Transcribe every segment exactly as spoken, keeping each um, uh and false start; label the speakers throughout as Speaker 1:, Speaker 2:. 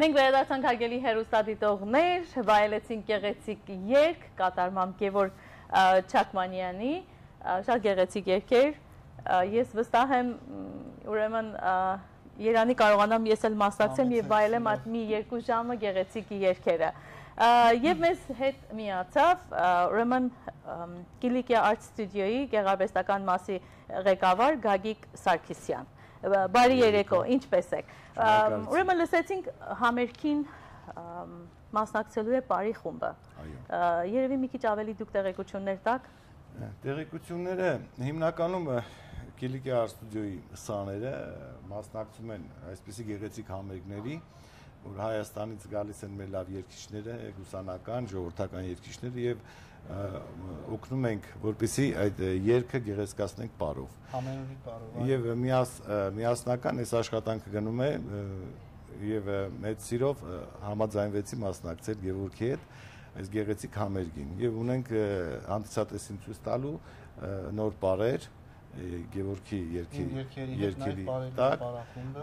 Speaker 1: Մենք վերադարձանք հարգելի հեռուստադիտողներ, վայելեցինք գեղեցիկ երգ, կատարմամբ Գևոր Չակմանյանի, շատ գեղեցիկ երգեր, ես վստահ եմ, ուրեմն Երանի կարողանամ ես էլ մասնակցեմ եւ վայելեմ այդ մի երկու ժամը գեղեցիկ երգերը։ Եվ մեզ հետ միացավ ուրեմն Կիլիկիա Art Studio-ի գեղարվեստական մասի ղեկավար Գագիկ Սարգսյան։ Բարի երեկո, ինչպես եք։ Ուրեմն լսեցինք համերգին մասնակցելու է Պարի խումբը։ Երևի մի քիչ ավելի դուք տեղեկություններ տաք։
Speaker 2: Տեղեկությունները հիմնականում Կիլիկիա Art Studio-ի սաները մասնակցում են այսպիսի գեղեցիկ համերգների, որ Հայաստանից գալիս են մեր լավ երգիչները, գուսանական, ժողովրդական երգիչները եւ օգնում ենք, որպեսզի այդ երգը գեղեցկացնենք պարով։
Speaker 3: Ամենուրի պարով։
Speaker 2: Եվ միասնական այս աշխատանքը գնում է եւ մեծ սիրով համաձայնվեցի մասնակցել Գևորգի հետ այս գեղեցիկ համերգին եւ ունենք հանդիսատեսին ցույց տալու նոր պարեր Գևորգի երգի երգերի տակ,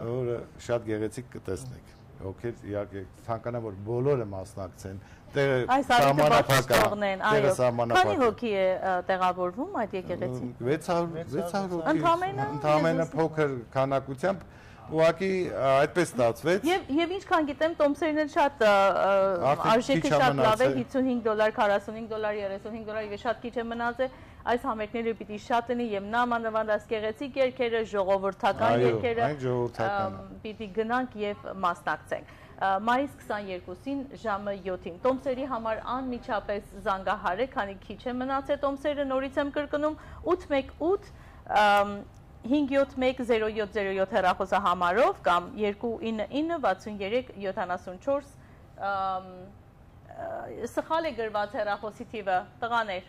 Speaker 2: որը շատ գեղեցիկ կտեսնեք։ Ովքեր իհարկե ցանկանան որ բոլորը մասնակցեն,
Speaker 1: տեղասահմանափակն են, այո։ Քանի հոգի է տեղավորվում այդ եկեղեցին։
Speaker 2: վեց հարյուր հոգի։ Ընդամենը փոքր քանակությամբ ուղղակի այդպես ստացվեց։
Speaker 1: Եվ ինչքան գիտեմ, տոմսերն էլ շատ արժեքը շատ լավ է, հիսունհինգ դոլար, քառասունհինգ դոլար, երեսունհինգ դոլար եւ շատ քիչ է մնացել։ Այս համերգները պիտի շատ լինի եւ նամանավանդ այս գեղեցիկ երգերը, ժողովրդական երգերը պիտի գնանք եւ մասնակցենք։ Մայիս քսաներկուսին ժամը յոթին տոմսերի համար անմիջապես զանգահարեք, քանի քիչ է մնացել տոմսերը, նորից եմ կրկնում ութ մեկ ութ հինգ յոթ մեկ զիրո յոթ զիրո յոթ հեռախոսահամարով կամ երկու ինը ինը վաթսունյերեք յոթանասունչորս սխալ է գրված հեռախոսի թիվը, տղաներ,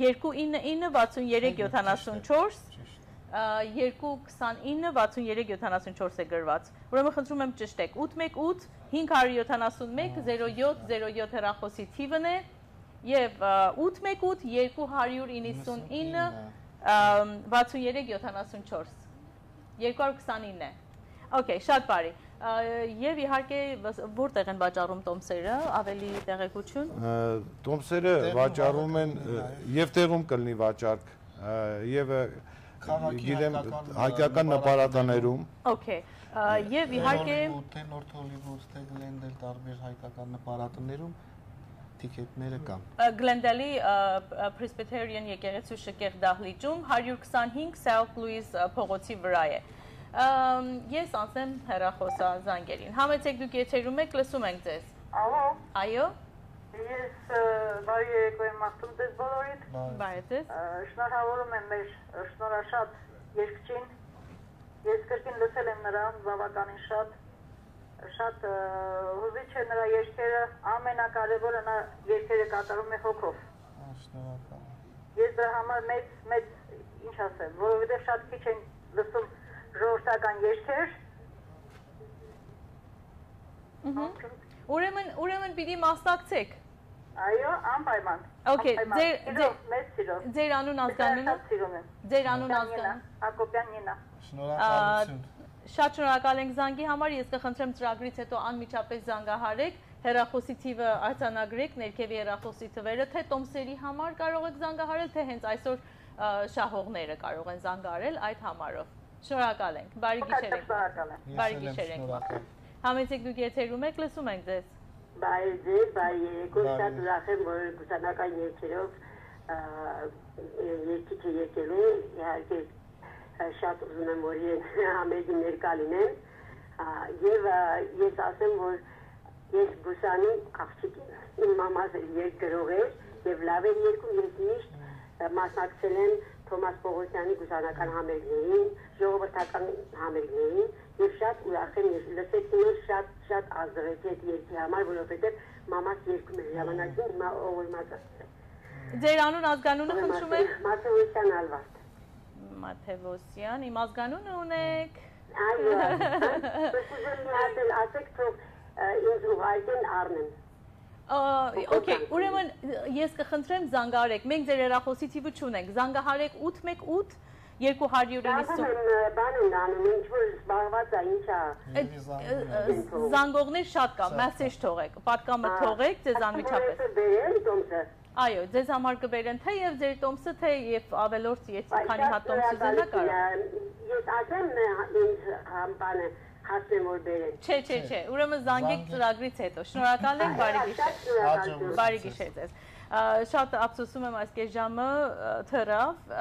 Speaker 1: երկու ինը ինը վաթսունյերեք յոթանասունչորս երկու քսանինը վաթսունյերեք յոթանասունչորս է գրված։ Ուրեմն խնդրում եմ ճշտեք ութ մեկ ութ հինգ հարյուր յոթանասունմեկ զիրո յոթ զիրո յոթ հեռախոսի թիվն է եւ ութ մեկ ութ երկու հարյուր իննսունինը վաթսունյերեք յոթանասունչորս երկու հարյուր քսանինը է։ Okay, շատ բարի։ Եվ իհարկե որտեղ են վաճառում տոմսերը, ավելի տեղեկություն։
Speaker 2: Տոմսերը վաճառում են եւ տեղում կլինի վաճառք եւ գիտեմ հայկական նպարատաներում։
Speaker 1: Okay, եւ իհարկե
Speaker 3: Նորթ Հոլիվուդ, թե Գլենդել տարբեր հայկական նպարատներում տիկետները կան։
Speaker 1: Գլենդելի Presbyterian եկեղեցու շքեղ դահլիճում հարյուր քսանհինգ South Louis փողոցի վրա է։ Ես անցնեմ հեռախոսազանգերին։ Համեցեք դուք եթերում եք, լսում ենք ձեզ։
Speaker 4: Ալո։
Speaker 1: Այո։
Speaker 4: Ես բարի երեկո եմ ասում ձեզ բոլորիդ։
Speaker 1: Բարի ձեզ։
Speaker 4: Շնորհավորում եմ մեր շնորհաշատ երգչին։ Ես կրկին լսել եմ նրան բավականին շատ, շատ հուզիչ է նրա երգերը, ամենակարևորը նա երգերը կատարում է հոգով։
Speaker 3: Շնորհակալ։
Speaker 4: Ես դրա համար մեծ մեծ ինչ ասեմ, որովհետև շատ քիչ են լսում ժողովրդական երգեր։
Speaker 1: Ուրեմն ուրեմն պիտի մասնակցեք։
Speaker 4: Այո, անպայման։
Speaker 1: Okay, ձեր
Speaker 4: մեծ սիրով։
Speaker 1: Ձեր անուն ազգանունը։ Ձեր անուն ազգանունը։
Speaker 4: Հակոբյան Նինա։
Speaker 3: Շնորհակալություն։
Speaker 1: Շատ շնորհակալ ենք զանգի համար, ես կխնդրեմ ծրագրից հետո անմիջապես զանգահարեք, հեռախոսի թիվը արձանագրեք, ներքևի հեռախոսի թվերը, թե տոմսերի համար կարող եք զանգահարել, թե հենց այսօր շահողները կարող են զանգահարել այդ համարով։ Շնորհակալ ենք։ Բարի գիշեր եք։ Բարի գիշեր եք։ Համեցեք դուք եթերում եք, լսում ենք ձեզ։
Speaker 4: Բարի ձեր, բարի երեկո, շատ ուրախ եմ, որ գուսանական երգերով երգիչը եկել է, իհարկե շատ ուզում եմ, որ համերգին ներկա լինեմ, եւ ես ասեմ, որ ես գուսանի աղջիկ եմ, իմ մամաս երգ գրող էր եւ լավ էր երգում, ես միշտ մասնակցել եմ Թոմաս Պողոսյանի գուսանական համերգներին, ժողովրդական համերգներին եւ շատ ուրախ եմ, ես լսեցի որ շատ շատ ազդվեց այդ երգի համար, որովհետեւ մամաս երգում էր ժամանակին, հիմա ողորմած է։
Speaker 1: Ձեր անուն ազգանունը խնդրում եմ։
Speaker 4: Մաթեոսյան Ալվարդ։
Speaker 1: Մաթեոսյան, իմ ազգանունը ունեք։
Speaker 4: Այո։ Ասեք թող ինձ ուղարկեն առնեմ։
Speaker 1: Okay, ուրեմն ես կխնդրեմ զանգահարեք, մենք ձեր հեռախոսի թիվը չունենք, զանգահարեք ութ մեկ ութ երկու հարյուր նվսուն
Speaker 4: բան են անում, ինչ որ զբաղված է, ինչա։
Speaker 1: Զանգողներ շատ կա, մեսեջ թողեք, պատկամը թողեք, ձեզ անմիջապես։
Speaker 4: Բերել տոմսը։
Speaker 1: Այո, ձեզ համար կբերեն թե եւ ձեր տոմսը, թե եւ ավելորդ, եթե քանի հատ տոմս ուզենա կարող։
Speaker 4: Ես ասեմ ինձ բանը հասնեմ որ բերեն։
Speaker 1: Չէ, չէ, չէ, ուրեմն զանգեք ծրագրից հետո։ Շնորհակալ ենք, բարի գիշեր։ Բարի գիշեր ձեզ։ Շատ ափսոսում եմ այս կես-ժամը թռավ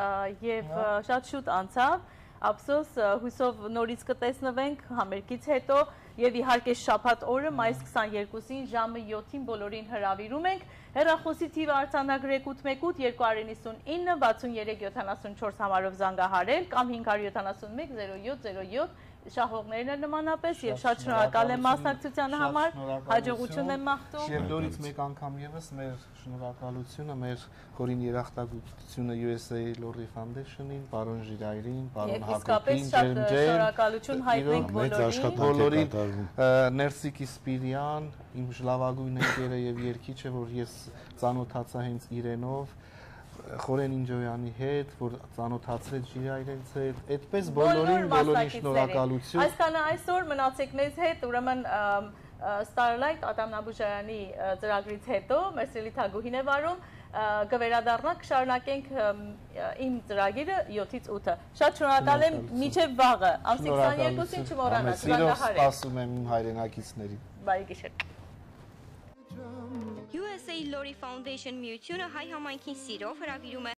Speaker 1: եւ շատ շուտ անցավ։ Ափսոս, հույսով նորից կտեսնվենք համերգից հետո եւ իհարկե շաբաթ օրը մայիս քսաներկուսին ժամը յոթին բոլորին հրավիրում ենք։ Հեռախոսի թիվը արձանագրեք ութ մեկ ութ երկու նինսունինը վաթսուներեք յոթանասունչորս համարով զանգահարել կամ հինգ հարյուր յոթանասունմեկ զիրո յոթ զիրո յոթ շահողներն են նմանապես եւ շատ շնորհակալ եմ մասնակցության համար, հաջողություն եմ մաղթում։
Speaker 3: Եվ նորից մեկ անգամ եւս մեր շնորհակալությունը մեր խորին երախտագիտությունը յու էս էյ Lorry Foundation-ին, պարոն Ժիրայրին, պարոն Հակոբին,
Speaker 1: Ջենջեն, շնորհակալություն հայտնենք բոլորին։
Speaker 3: Ներսիկ Իսպիրյան, իմ լավագույն ընկերը եւ երգիչը, որ ես ծանոթացա հենց իրենով, Խորեն Ինջոյանի հետ, որ ծանոթացրեց Ժիրայրից հետ, այդպես բոլորին բոլորին շնորհակալություն։
Speaker 1: Այսքանը այսօր մնացեք մեզ հետ, ուրեմն Starlight Ադամ Նաբուժարյանի ծրագրից հետո մեր սիրելի թագուհին է վարում, կվերադառնանք, կշարունակենք իմ ծրագիրը յոթից ութը։ Շատ շնորհակալ եմ, մինչև վաղը, ամսի քսաներկուսին չմոռանաք, զանգահարեք։
Speaker 3: Սպասում եմ իմ հայրենակիցներին։
Speaker 1: Բարի գիշեր։
Speaker 5: յու էս էյ Lorry Foundation միությունը հայ համայնքին սիրով հրավիրում է